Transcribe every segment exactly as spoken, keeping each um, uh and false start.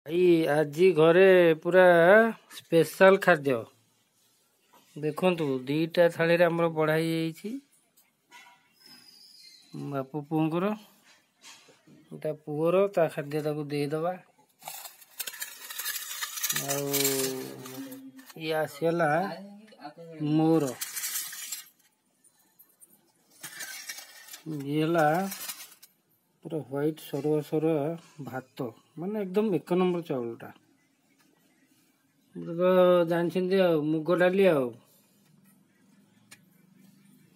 ଭାଇ, ଆଜି ଘରେ ପୁରା ସ୍ପେଶାଲ ଖାଦ୍ୟ। ଦେଖନ୍ତୁ, ଦୁଇଟା ଥାଳିରେ ଆମର ବଢ଼ା ହେଇଯାଇଛି ବାପ ପୁଅଙ୍କର। ତା ପୁଅର ତା ଖାଦ୍ୟ ତାକୁ ଦେଇଦେବା। ଆଉ ଇଏ ଆସିଗଲା ମୋର। ଇଏ ହେଲା ପୁରା ହ୍ୱାଇଟ୍ ସରୁଆ ସରୁଆ ଭାତ, ମାନେ ଏକଦମ ଏକ ନମ୍ବର ଚାଉଳଟା ତ ଜାଣିଛନ୍ତି। ଆଉ ମୁଗ ଡାଲି, ଆଉ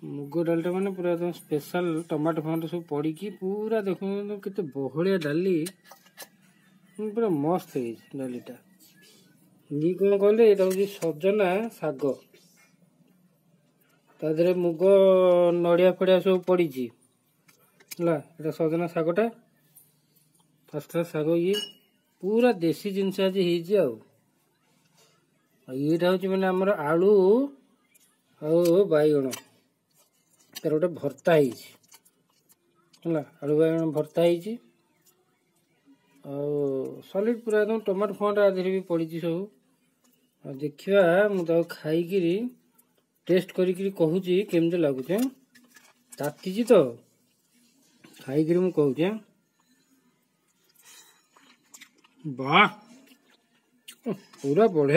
ମୁଗ ଡାଲିଟା ମାନେ ପୁରା ଏକଦମ ସ୍ପେଶାଲ, ଟମାଟୋ ଫମାଟୋ ସବୁ ପଡ଼ିକି ପୁରା। ଦେଖନ୍ତୁ କେତେ ବହଳିଆ ଡାଲି, ପୁରା ମସ୍ତ ହେଇଛି ଡାଲିଟା। ଇଏ କ'ଣ କହିଲେ, ଏଇଟା ହେଉଛି ସଜନା ଶାଗ, ତା ଦେହରେ ମୁଗ ନଡ଼ିଆ ଫଡ଼ିଆ ସବୁ ପଡ଼ିଛି। ହେଲା, ଏଇଟା ସଜନା ଶାଗଟା, ଫାର୍ଷ୍ଟ କ୍ଲାସ୍ ଶାଗ। ଇଏ ପୁରା ଦେଶୀ ଜିନିଷ ଆଜି ହେଇଛି। ଆଉ ଏଇଟା ହେଉଛି ମାନେ ଆମର ଆଳୁ ଆଉ ବାଇଗଣ, ତାର ଗୋଟେ ଭର୍ତ୍ତା ହେଇଛି। ହେଲା, ଆଳୁ ବାଇଗଣ ଭର୍ତ୍ତା ହେଇଛି ଆଉ ସଲିଡ୍ ପୁରା ଏକଦମ, ଟମାଟୋ ଫମାଟୋ ଆ ଦେହରେ ବି ପଡ଼ିଛି ସବୁ। ଆଉ ଦେଖିବା, ମୁଁ ତାକୁ ଖାଇକିରି ଟେଷ୍ଟ କରିକିରି କହୁଛି କେମିତି ଲାଗୁଛି। ତାତିଛି ତ, ଖାଇକିରି ମୁଁ କହୁଛି। ବାह, ପୁରା ବଢ଼ିଆ।